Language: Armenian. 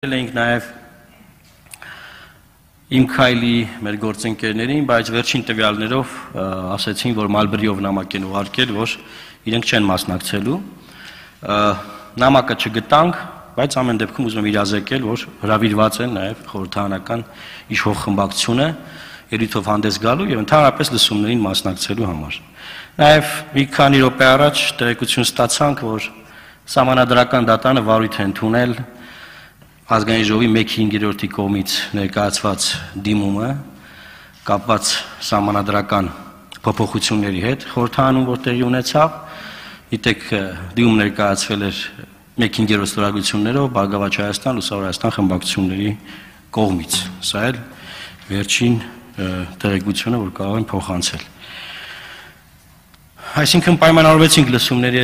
Ենք նաև իմ քայլի մեր գործընկերներին, բայց վերջին տվյալներով ասեցին, որ Մալբրիով նամակ են ուղարկել, որ իրենք չեն մասնակցելու։ Նամակը չգտանք, բայց ամեն դեպքում ուզում եմ իրազեկել, որ հրավիրված են նաև խորհրդարանական իշխող խմբակցությունը ելույթով հանդես գալու եւ ընդհանրապես լսումներին մասնակցելու համար։ Նաև մի քանի րոպե առաջ տեղեկություն ստացանք, որ Սահմանադրական դատարանը վարույթ է ընդունել Ազգային ժողովի 1/5 կողմից ներկայացված դիմումը կապված սահմանադրական փոփոխությունների հետ խորհրդարանում, որ տեղի ունեցավ, գիտեք, դիմում ներկայացվել էր 1/5 ստորագրություններով Բարգավաճ Հայաստան, Լուսավոր Հայաստան խմբակցությունների կողմից։ Սա էլ վերջին տեղեկությունը, որ կարող են փոխանցել։ Այսինքն պայմանավորվեցինք լսումների